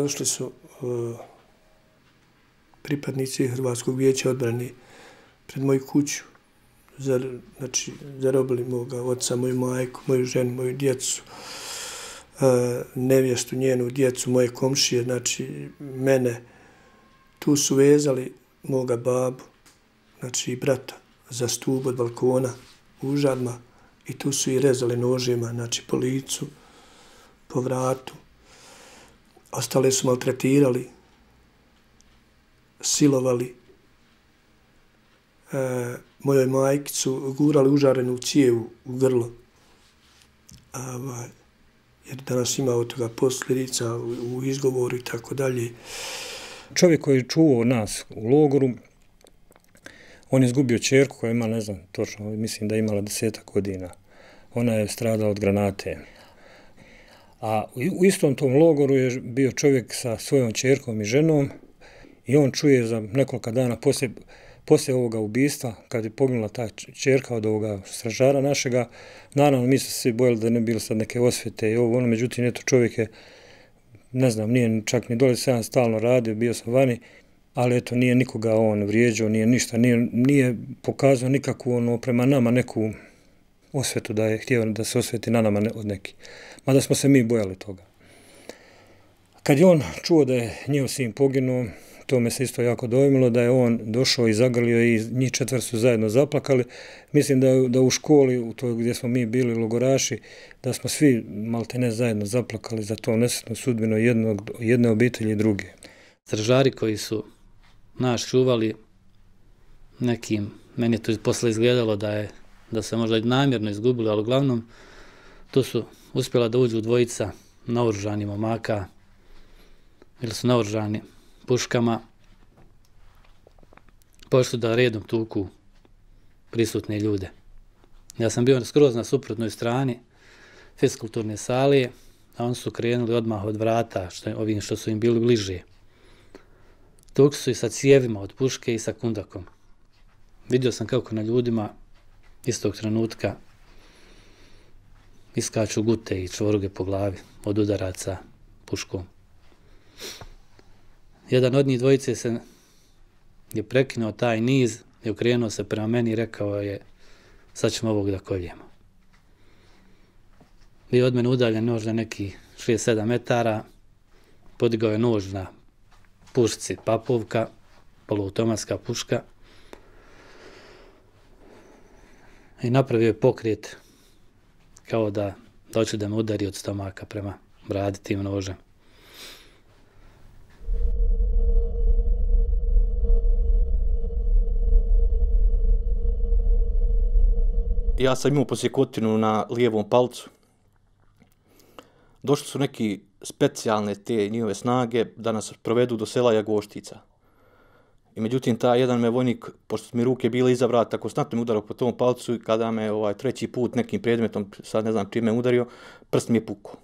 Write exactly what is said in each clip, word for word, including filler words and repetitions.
došli su uh, pripadnici Hrvatskog vijeća odbrane pred moju kuću. Zar, znači, zarobili moga oca, moju majku, moju ženu, moju djecu, uh, nevjestu, njenu djecu, moje komšije, znači mene. Tu su vezali moga babu, znači i brata, za stup od balkona u Žadma i tu su i rezali nožima, znači po licu, po vratu. Ostale su maltretirali, silovali. E, mojoj majki su gurali užarenu cijevu u grlo. A, jer danas ima od toga posljedica u, u izgovoru i tako dalje. Čovjek koji je čuvao nas u logoru, on je izgubio ćerku koja ima, ne znam, točno, mislim da je imala desetak godina. Ona je stradala od granate. A u istom tom logoru je bio čovjek sa svojom ćerkom i ženom i on čuje za nekoliko dana poslije, poslije ovoga ubistva, kad je poginula ta ćerka od ovoga stražara našega, naravno mi smo se svi bojali da ne bilo sad neke osvete i ovo, ono, međutim, eto, čovjek je, ne znam, nije čak ni dole, sam stalno radio, bio sam vani, ali eto, nije nikoga on vrijeđao, nije ništa, nije, nije pokazao nikakvu, ono, prema nama neku osvetu da je htio da se osveti na nama od nekih. Mada smo se mi bojali toga. Kad je on čuo da je njihov sin poginuo, to me se isto jako dojmilo, da je on došao i zagrlio i njih četvr su zajedno zaplakali. Mislim da, da u školi, u toj gdje smo mi bili logoraši, da smo svi maltene zajedno zaplakali za to nesretnu sudbinu jednog, jedne obitelji i druge. Stražari koji su nas čuvali nekim, meni je to posle izgledalo da je da se možda i namjerno izgubili, ali uglavnom tu su uspjela da uđu dvojica naoružani momaka, ili su naoružani puškama, pošli da redom tuku prisutne ljude. Ja sam bio skroz na suprotnoj strani fiskulturne sale, a oni su krenuli odmah od vrata, što, ovim što su im bili bliže. Tukli su i sa cijevima od puške i sa kundakom. Vidio sam kako na ljudima istog trenutka iskaču gute i čvoruge po glavi od udaraca puškom. Jedan od njih dvojice se je prekinuo taj niz i okrenuo se prema meni i rekao je: sad ćemo ovog da koljemo. Bio od mene udaljen nož na neki šest sedam metara, podigao je nož na pušci papovka, poluautomatska puška, i napravio je pokret kao da hoće da me udari od stomaka prema bradi tim nožem. Ja sam imao posjekotinu na lijevom palcu. Došli su neki specijalne te njihove snage da nas provedu do sela Jagoštica. I međutim, taj jedan me vojnik, pošto su mi ruke bile iza vrata, konstantno mi udarao po tom palcu i kada me ovaj, treći put nekim predmetom, sad ne znam čime udario, prst mi je pukao.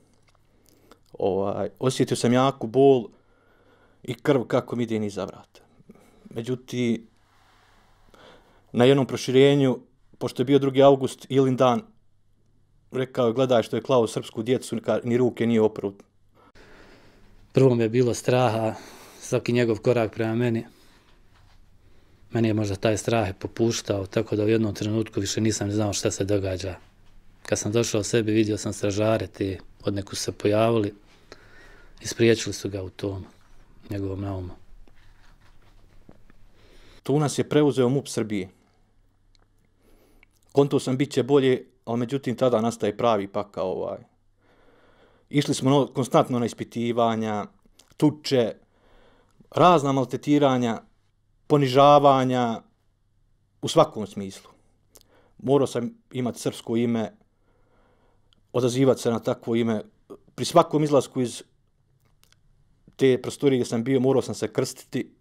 Ovaj, osjetio sam jaku bol i krv kako mi ide iza vrata. Međutim, na jednom proširenju, pošto je bio drugi avgust, Ilin dan, rekao je: gledaj što je klao srpsku djecu, ni ruke nije oprao. Prvo mi je bilo straha, svaki njegov korak prema meni. Meni je možda taj strah popuštao, tako da u jednom trenutku više nisam znao šta se događa. Kad sam došao sebi, vidio sam stražare, te od neku se pojavili i spriječili su ga u tom njegovom naumu. Tu nas je preuzeo MUP Srbije. Konto sam bit će bolje, ali međutim tada nastaje pravi pakao. Ovaj. Išli smo no, konstantno na ispitivanja, tuče, razna maltretiranja, ponižavanja u svakom smislu. Morao sam imati srpsko ime, odazivati se na takvo ime. Pri svakom izlasku iz te prostorije gdje sam bio, morao sam se krstiti,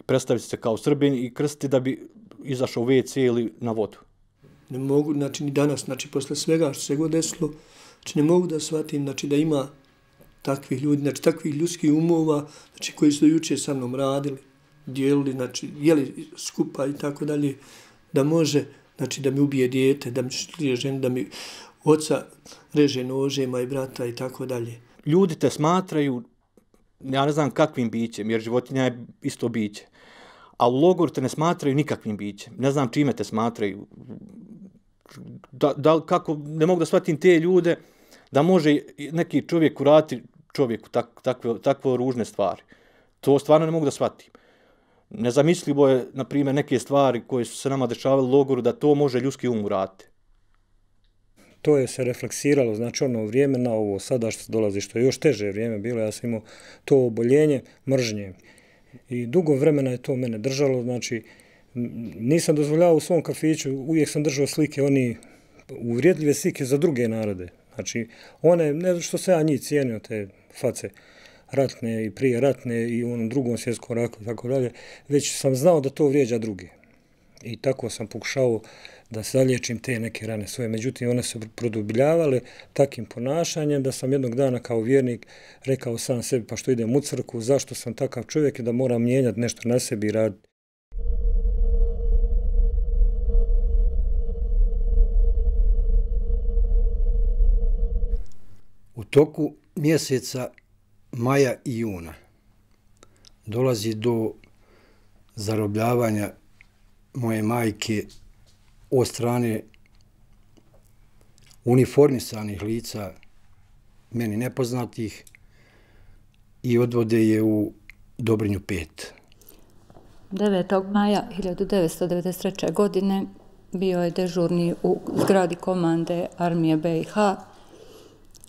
predstaviti se kao Srbin i krstiti da bi izašao u ve ce ili na vodu. Ne mogu, znači ni danas, znači posle svega što se god desilo, znači ne mogu da shvatim, znači da ima takvih ljudi, znači takvih ljudskih umova, znači koji su do juče sa mnom radili, dijelili, znači jeli skupa i tako dalje, da može, znači da mi ubije dijete, da mi šlije ženu, da mi oca reže nožema i brata i tako dalje. Ljudi te smatraju ja ne znam kakvim bićem, jer životinja je isto biće. A u logoru te ne smatraju nikakvim bićem. Ne znam čime te smatraju. Da, da, kako, ne mogu da shvatim te ljude da može neki čovjek uraditi čovjeku tak, takve, takve ružne stvari. To stvarno ne mogu da shvatim. Nezamislivo je, na primjer, neke stvari koje su se nama dešavale u logoru, da to može ljudski um uraditi. To je se refleksiralo, znači ono vrijeme na ovo sada što dolazi, što je još teže vrijeme bilo, ja sam imao to oboljenje mržnje. I dugo vremena je to mene držalo, znači nisam dozvoljavao u svom kafiću, uvijek sam držao slike, oni uvrijedljive slike za druge narode. Znači, one, ne što se ja njih cijenio, te face ratne i prije ratne i u onom drugom svjetskom ratu i tako dalje, već sam znao da to vrijeđa druge. I tako sam pokušao da zaliječim te neke rane svoje. Međutim, one su produbljavale takim ponašanjem da sam jednog dana kao vjernik rekao sam sebi, pa što idem u crkvu, zašto sam takav čovjek i da moram mijenjati nešto na sebi i raditi. U toku mjeseca maja i juna dolazi do zarobljavanja moje majke od strane uniformisanih lica, meni nepoznatih, i odvode je u Dobrinju pet. devetog maja hiljadu devetsto devedeset treće. godine bio je dežurni u zgradi komande armije be i ha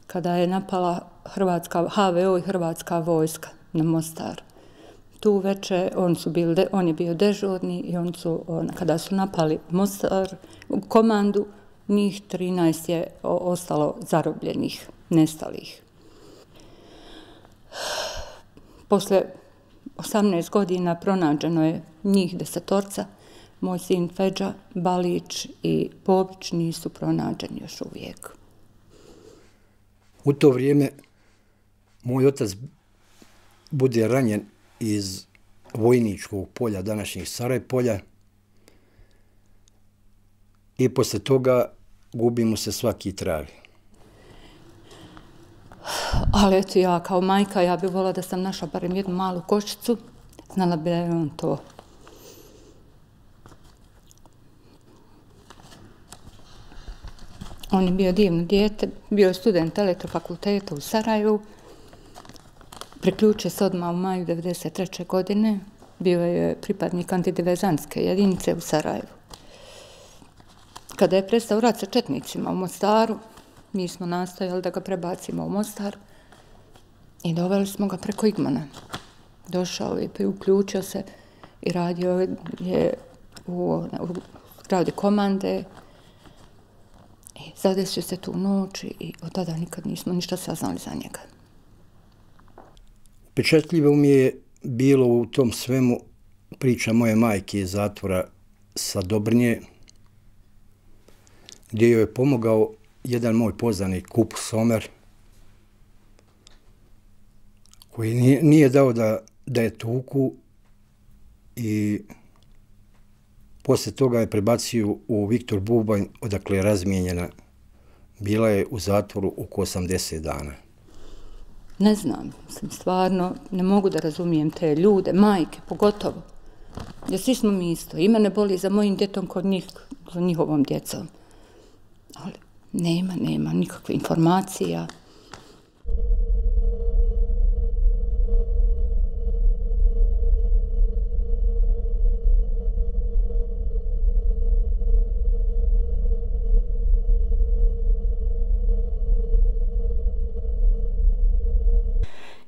kada je napala Hrvatska, ha ve o i Hrvatska vojska na Mostar. Tu veče on, su bili, on je bio dežurni i on su, on, kada su napali Mostar, komandu, njih trinaest je ostalo zarobljenih, nestalih. Posle osamnaest godina pronađeno je njih desetorca, moj sin Feđa, Balić i Popić nisu pronađeni još uvijek. U to vrijeme moj otac bude ranjen iz vojničkog polja, današnjih Sarajpolja, i posle toga gubi mu se svaki trag. Ali eto, ja kao majka, ja bih volila da sam našla barem jednu malu kočicu, znala bi da je on to. On je bio divno dijete, bio je student elektrofakulteta u Sarajevu, priključio se odmah u maju devedeset treće. godine, bio je pripadnik antidiverzantske jedinice u Sarajevu. Kada je prestao rat sa četnicima u Mostaru, mi smo nastojali da ga prebacimo u Mostar i doveli smo ga preko Igmana. Došao je i uključio se i radio je u, u zgradi komande. I zadesio se tu noć i od tada nikad nismo ništa saznali za njega. Pečetljivo mi je bilo u tom svemu priča moje majke iz zatvora sa Dobrnje, gdje joj je pomogao jedan moj poznanik, Kup Somer, koji nije, nije dao da, da je tuku, i poslije toga je prebacio u Viktor Bubanj, odakle je razmijenjena. Bila je u zatvoru oko osamdeset dana. Ne znam, sam stvarno, ne mogu da razumijem te ljude, majke pogotovo. Jer svi smo mi isto. I mene boli za mojim djetom kod njih, za njihovom djecom. Ali nema, nema nikakve informacija.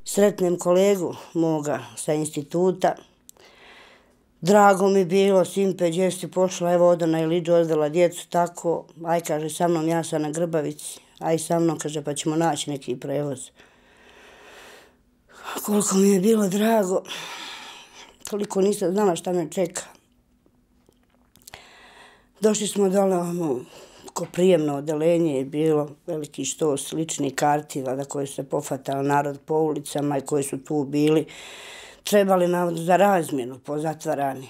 Sretnem kolegu moga sa instituta. Drago mi bilo, Simpe, gdje si pošla, evo odo na Iliđu, odvela djecu, tako, aj, kaže, sa mnom, ja sam na Grbavici, aj sa mnom, kaže, pa ćemo naći neki prevoz. Koliko mi je bilo drago, koliko nisam znala šta me čeka. Došli smo dole, ono, ko prijemno odelenje je bilo, veliki štos slični karti, da koje se pofatao narod po ulicama i koji su tu bili, trebali nam za razmjenu pozatvarani.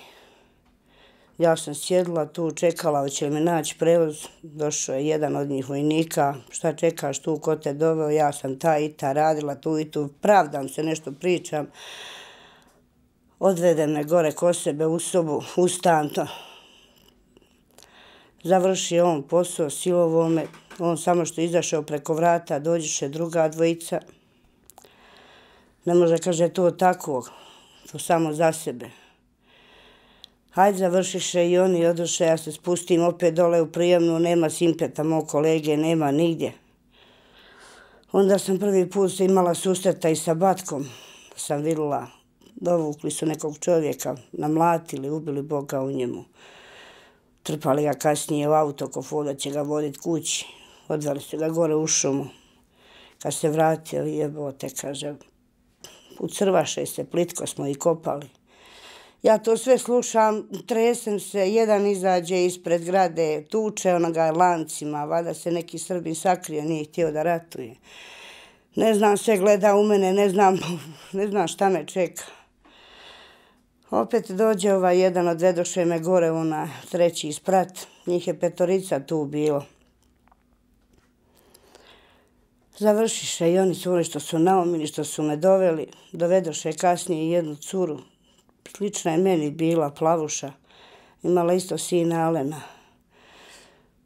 Ja sam sjedila tu, čekala, hoće li me naći prevoz. Došao je jedan od njih vojnika. Šta čekaš tu, ko te doveo? Ja sam ta i ta radila tu i tu. Pravdam se, nešto pričam. Odvede me gore ko sebe u sobu, ustan to. Završi on posao, silovo me. On samo što izašao preko vrata, dođeše druga dvojica. Ne može, kaže, to tako, to samo za sebe. Hajde, završiše i oni odoše, ja se spustim opet dole u prijemnu, nema simpeta, mog kolege, nema nigdje. Onda sam prvi put se imala susreta i sa Batkom, sam vidjela, dovukli su nekog čovjeka, namlatili, ubili Boga u njemu. Trpali ga kasnije u auto, ko foda će ga voditi kući, odveli su ga gore u šumu. Kad se vratio, jebote, kaže, ucrvaše se, plitko smo i kopali. Ja to sve slušam, tresem se, jedan izađe ispred grade, tuče onoga lancima, valjda se neki Srbin sakrio, nije htio da ratuje. Ne znam, sve gleda u mene, ne znam, ne znam šta me čeka. Opet dođe ovaj jedan, odvedoše me gore, ona treći isprat, njih je petorica tu bilo. Završiše i oni su oni što su naumili, što su me doveli, dovedoše kasnije jednu curu. Slična je meni bila, plavuša, imala isto sina Alena.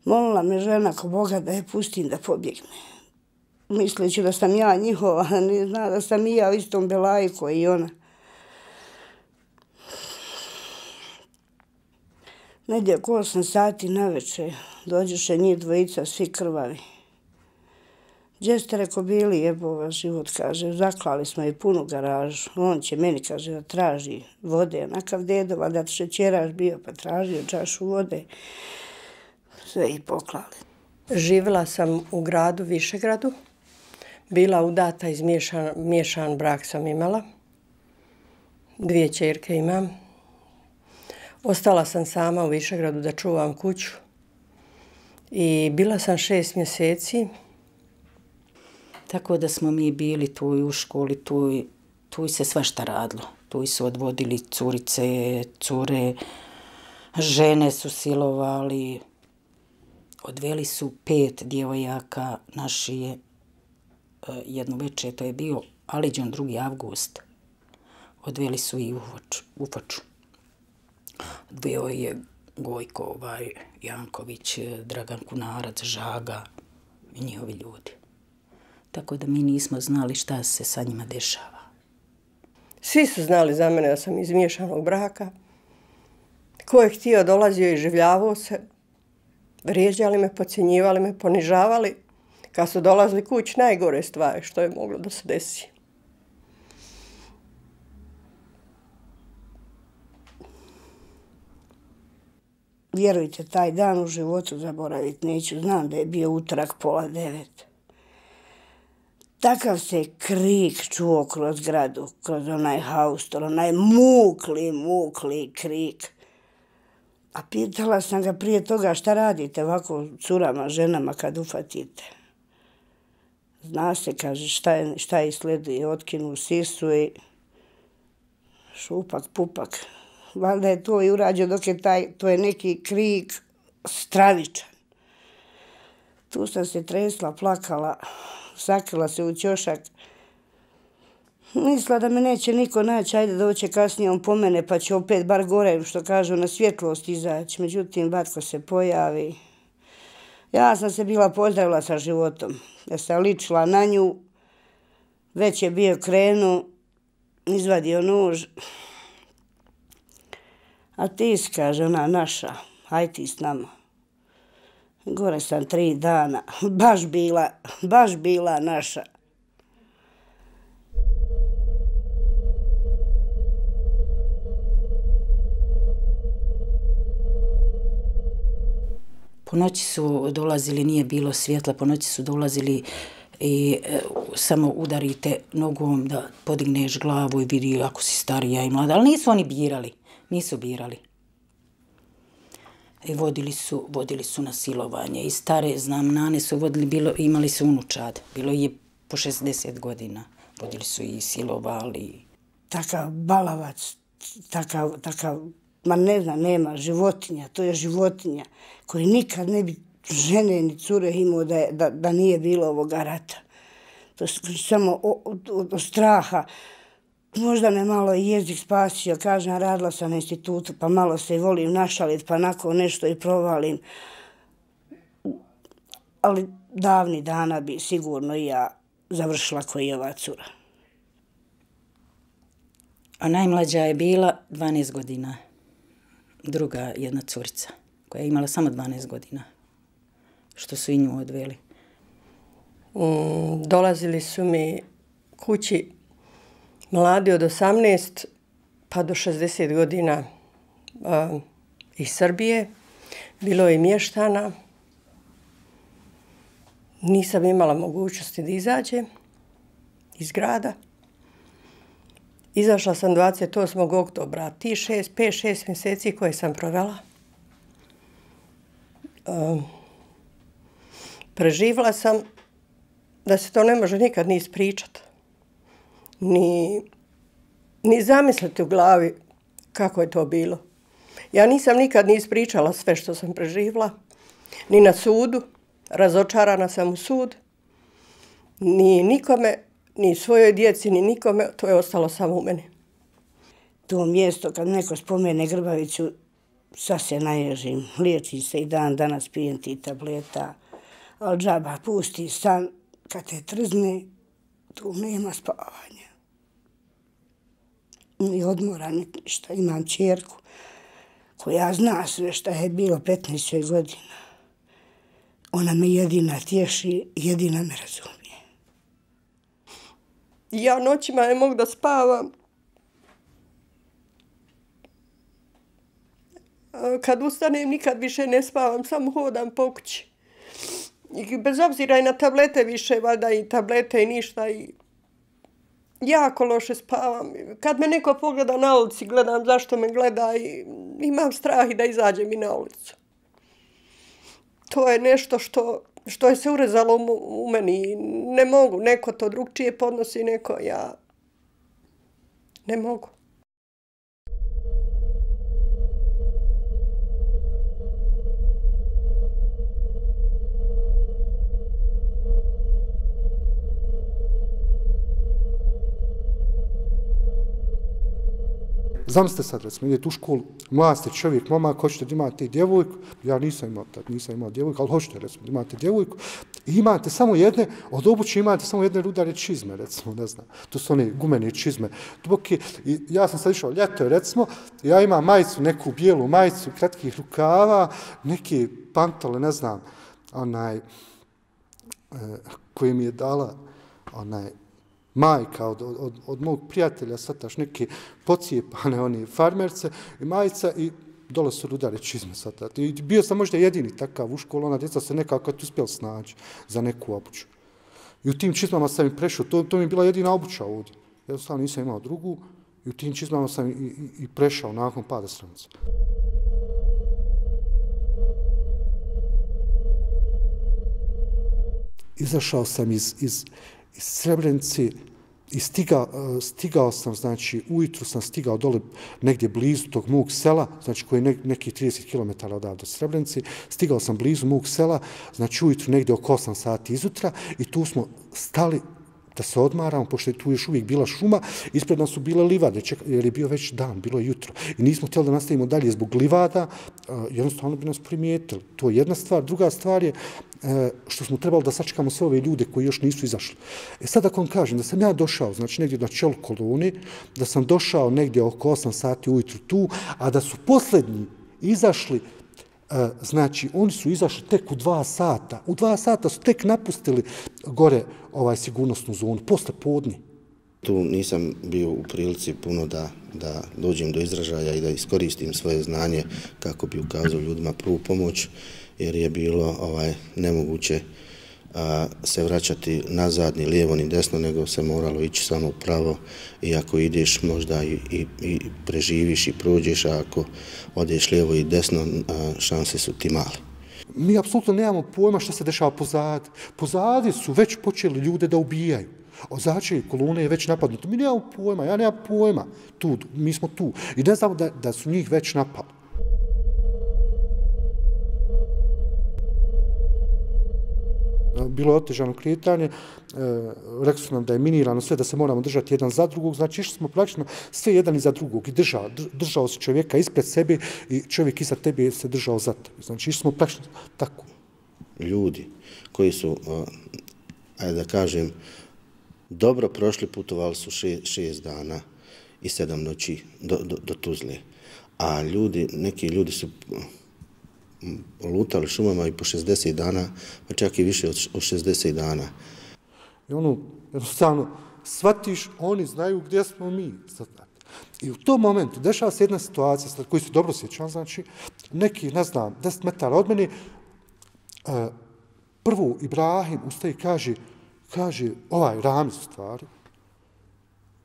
Molila me žena ko Boga da je pustim da pobjegne. Misleći da sam ja njihova, ne zna da sam i ja u istom belaju koji i ona. Negdje oko osam sati na večer dođeše njih dvojica, svi krvavi. Gdje ste, reko, bili, jebova život, kaže, zaklali smo i punu garažu. On će meni, kaže, da traži vode, onakav dedova, da šećeraš bio, pa tražio čašu vode. Sve i poklali. Živjela sam u gradu Višegradu, bila udata, izmiješan miješan brak sam imala, dvije ćerke imam. Ostala sam sama u Višegradu da čuvam kuću i bila sam šest mjeseci. Tako da smo mi bili tu u školi, tu, tu se svašta radilo. Tu su odvodili curice, cure, žene su silovali. Odveli su pet djevojaka naši, jednu večer, to je bio Aliđan drugi avgust. Odveli su i u Foču. Bio je Gojko, ovaj, Janković, Dragan Kunarac, Žaga i njihovi ljudi. Tako da mi nismo znali šta se sa njima dešava. Svi su znali za mene da sam iz miješanog braka. Ko je htio, dolazio i življavao se. Vrijeđali me, podcjenjivali me, ponižavali. Kad su dolazili kući, najgore stvari što je moglo da se desi. Vjerujte, taj dan u životu zaboraviti neću. Znam da je bio utorak pola devet. Takav se krik čuo kroz gradu, kroz onaj haustor, onaj mukli, mukli krik. A pitala sam ga prije toga šta radite ovako curama, ženama kad ufatite. Zna se, kaže, šta je, šta je sleduje, otkinu sisu i šupak, pupak. Valjda je to i urađeno dok je taj, to je neki krik stravičan. Tu sam se tresla, plakala, sakrila se u ćošak. Mislila da me neće niko naći, ajde doće kasnije on po mene pa će opet bar gore, što kažu, na svjetlost izaći. Međutim, Batko se pojavi. Ja sam se bila pozdravila sa životom. Ja sam ličila na nju, već je bio krenu, izvadio nož. A ti, kaže, ona naša, aj ti s nama. Gore sam tri dana, baš bila, baš bila naša. Po noći su dolazili, nije bilo svjetla, po noći su dolazili i e, samo udarite nogom da podigneš glavu i vidi ako si starija i mlada. Ali nisu oni birali, nisu birali. I vodili su, vodili su na silovanje. I stare, znam, nane su vodili, bilo, imali su unučad. Bilo je po šezdeset godina. Vodili su i silovali. Takav balavac, takav, takav ma ne znam, nema, životinja, to je životinja koji nikad ne bi žene ni cure imao da, da, da nije bilo ovoga rata. To je samo od, od, od straha. Možda me malo i jezik spasio, kažem, radila sam na institutu, pa malo se i volim našaliti, pa nakon nešto i provalim. Ali davni dana bi sigurno i ja završila koji je ova cura. A najmlađa je bila dvanaest godina. Druga jedna curica koja je imala samo dvanaest godina. Što su i nju odveli. Mm, dolazili su mi kući mladi od osamnaest pa do šezdeset godina uh, iz Srbije. Bilo je i mještana. Nisam imala mogućnosti da izađem iz grada. Izašla sam dvadeset osmog oktobra. Ti šest, pet, šest mjeseci koje sam provela. Um, preživjela sam da se to ne može nikad ni ispričati. Ni, ni zamisliti u glavi kako je to bilo. Ja nisam nikad ni ispričala sve što sam preživjela. Ni na sudu. Razočarana sam u sud. Ni nikome, ni svojoj djeci, ni nikome, to je ostalo samo u meni. To mjesto, kad neko spomene Grbavicu, sad se naježim. Liječim se i dan danas, pijem ti tableta. Ali džaba, pusti san, kad te trzne, tu nema spavanja. Ni odmora, ni ništa. Imam čerku koja zna sve šta je bilo petnaest godina. Ona me jedina tješi, jedina me razumije. Ja noćima ne mogu da spavam. Kad ustanem, nikad više ne spavam, samo hodam po kući. I bez obzira i na tablete više, valjda i tablete i ništa. I jako loše spavam. Kad me neko pogleda na ulici, gledam zašto me gleda i imam strah i da izađem i na ulicu. To je nešto što, što je se urezalo u, u meni. Ne mogu, neko to drugčije podnosi, neko ja ne mogu. Zamislite sad, recimo, idete u školu, mlad ste čovjek, momak, hoćete da imate djevojku, ja nisam imao, tad nisam imao djevojku, ali hoćete, recimo, da imate djevojku, i imate samo jedne, od obuće imate samo jedne rudare čizme, recimo, ne znam, to su one gumene čizme. Duboke, i ja sam sad išao ljeto, recimo, ja imam majicu, neku bijelu majicu, kratkih rukava, neke pantole, ne znam, onaj, eh, koji mi je dala, onaj, majka od, od, od mog prijatelja, sataš neke pocijepane one farmerce i majica i dole su rudare čizme sata. I bio sam možda jedini takav u školu, ona djeca se nekako uspjela snaći za neku obuću. I u tim čizmama sam i prešao, to, to mi je bila jedina obuća ovdje. Jednostavno nisam imao drugu i u tim čizmama sam i, i, i prešao nakon pada stranice. Izašao sam iz, iz iz Srebrenice i stigao, stigao sam, znači, ujutru sam stigao dole negdje blizu tog mog sela, znači koji je ne, nekih trideset kilometara odavde od Srebrenice, stigao sam blizu mog sela, znači ujutru negdje oko osam sati izutra i tu smo stali da se odmaramo, pošto je tu još uvijek bila šuma, ispred nas su bile livade, jer je bio već dan, bilo je jutro. I nismo htjeli da nastavimo dalje zbog livada, jednostavno bi nas primijetili. To je jedna stvar. Druga stvar je što smo trebali da sačekamo sve ove ljude koji još nisu izašli. E sad ako vam kažem da sam ja došao, znači negdje na čelu kolone, da sam došao negdje oko osam sati ujutru tu, a da su posljednji izašli, znači oni su izašli tek u dva sata. U dva sata su tek napustili gore ovaj sigurnosnu zonu, posle podne. Tu nisam bio u prilici puno da, da dođem do izražaja i da iskoristim svoje znanje kako bi ukazao ljudima prvu pomoć, jer je bilo ovaj nemoguće a, se vraćati nazad ni lijevo ni desno, nego se moralo ići samo pravo i ako ideš možda i, i, i preživiš i prođeš, a ako odeš lijevo i desno, a, šanse su ti male. Mi apsolutno nemamo pojma što se dešava pozadi. Pozadi su već počeli ljude da ubijaju. Od začelje kolone je već napadnuto. Mi nemamo pojma, ja nemam pojma. Tu, mi smo tu. I ne znamo da, da su njih već napali. Bilo je otežano kretanje, e, rekli su nam da je minirano sve, da se moramo držati jedan za drugog, znači išli smo praktično sve jedan iza drugog i držao, držao se čovjeka ispred sebe i čovjek iza tebe se držao za tebe. Znači išli smo praktično tako. Ljudi koji su, ajde da kažem, dobro prošli, putovali su še, šest dana i sedam noći do, do, do Tuzle. A ljudi, neki ljudi su lutali šumama i po šezdeset dana, pa čak i više od šezdeset dana. I ono, jednostavno, shvatiš, oni znaju gdje smo mi. I u tom momentu dešava se jedna situacija, koju se dobro sjećam, znači, neki, ne znam, deset metara od mene, prvo Ibrahim ustaje i kaže, kaže, ovaj Ramiz u stvari,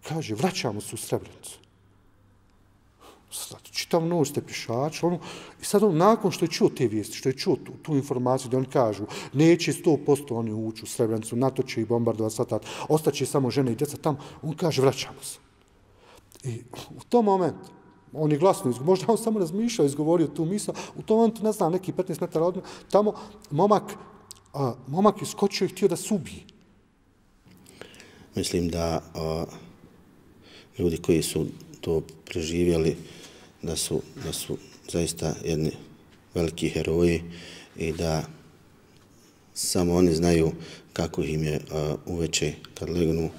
kaže, vraćamo se u Srebrenicu. Čitav noć ste pišači, ono, i sad on, nakon što je čuo te vijesti, što je čuo tu, tu informaciju, da oni kažu, neće sto posto oni ući u Srebrenicu, NATO će ih bombardovati satat, ostaće samo žene i djeca tamo, on kaže, vraćamo se. I u tom momentu, on je glasno izgovorio, možda on samo razmišljao, izgovorio tu misao, u tom momentu, ne znam, neki petnaest metara od mene, tamo momak, a, momak je skočio i htio da se ubije. Mislim da a, ljudi koji su to preživjeli, da su, da su zaista jedni veliki heroji i da samo oni znaju kako im je a, uveče kad legnu,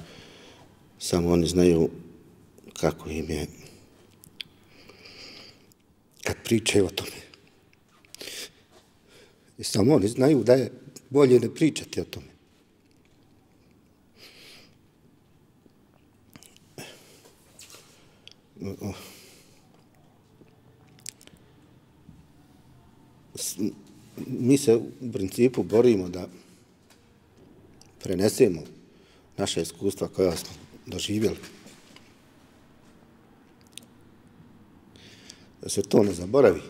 samo oni znaju kako im je kad pričaju o tome. I samo oni znaju da je bolje ne pričati o tome. Mi se u principu borimo da prenesemo naše iskustva koja smo doživjeli. Da se to ne zaboravi.